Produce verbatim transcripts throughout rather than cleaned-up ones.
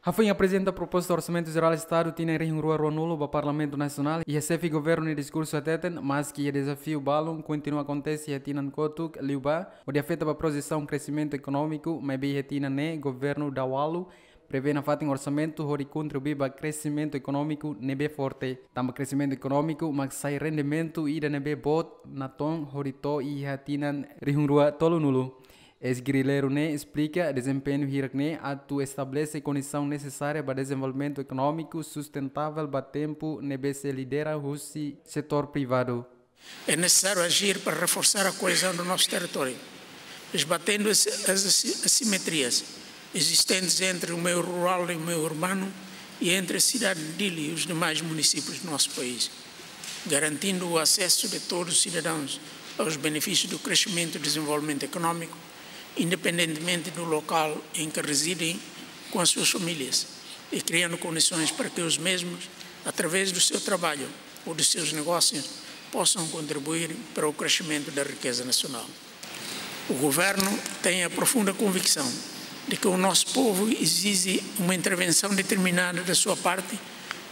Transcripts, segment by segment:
Hafoin aprezenta proposta Orsamentu Jerál Estadu tinan rihun rua ruanulu ba Parlamentu Nasionál, iha xefe governu nia diskursu hateten, maski iha dezafiu balun kontinua akontese iha tinan kotuk liubá, hodi afeta ba projesaun kresimentu ekonómiku, maibé iha tinan ne'e governu dadaun prevee nafatin orsamentu hodi kontribui ba kresimentu ekonómiku ne'ebé forte. Tanba kresimentu ekonómiku mak sai rendimentu ida ne'ebé boot natoon hodi to'o iha tinan rihun rua tolunulu. Eis-gerrilleiru ne'e esplika dezempeñu hirak ne'e atu estabelese kondisaun nesesária ba dezenvolvimentu ekonómiku sustentável ba tempu ne'ebé sei lidera husi setór privadu. É necessário agir para reforçar a coesão do nosso território, esbatendo as, as assi-, assimetrias existentes entre o meio rural e o meio urbano e entre a cidade de Dili e os demais municípios do nosso país, garantindo o acesso de todos os cidadãos aos benefícios do crescimento e desenvolvimento económico, independentemente do local em que residem com as suas famílias, e criando condições para que os mesmos, através do seu trabalho ou dos seus negócios, possam contribuir para o crescimento da riqueza nacional. O Governo tem a profunda convicção de que o nosso povo exige uma intervenção determinada da sua parte,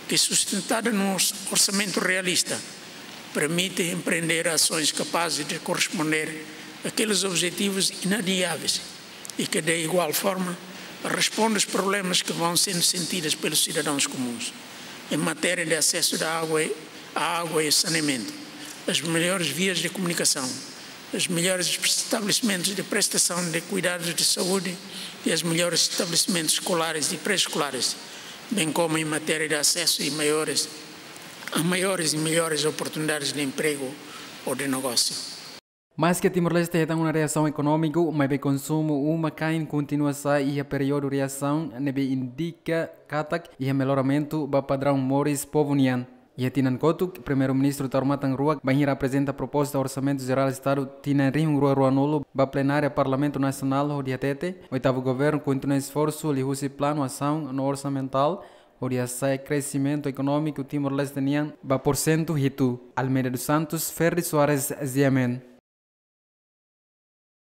que, sustentada num orç-, orçamento realista, permite empreender ações capazes de corresponder àqueles objetivos inadiáveis e que, de igual forma, responde aos problemas que vão sendo sentidos pelos cidadãos comuns, em matéria de acesso da água, à água e saneamento, as melhores vias de comunicação, os melhores estabelecimentos de prestação de cuidados de saúde e os melhores estabelecimentos escolares e pré-escolares, bem como em matéria de acesso e maiores, a maiores e melhores oportunidades de emprego ou de negócio. Maski Timor-Leste hetan ona reasaun ekonómiku, maibé konsumu uma-kain kontinua sa'e iha períodu reasaun, ne'ebé indika katak iha melloramentu ba padraun moris povu nian. Iha tinan kotuk, Primeiru-Ministru Taur Matan Ruak bainhira aprezenta proposta Orsamentu Jerál Estadu tinan rihun rua ruanulu ba plenária Parlamentu Nasionál hodi hatete, oitavu governu kontinua esforsu liuhusi planu asaun no orsamentál hodi hasa'e kresimentu ekonómiku Timor-Leste nian ba porsentu hitu. Almeida dos Santos, Ferdi Soares, G M N.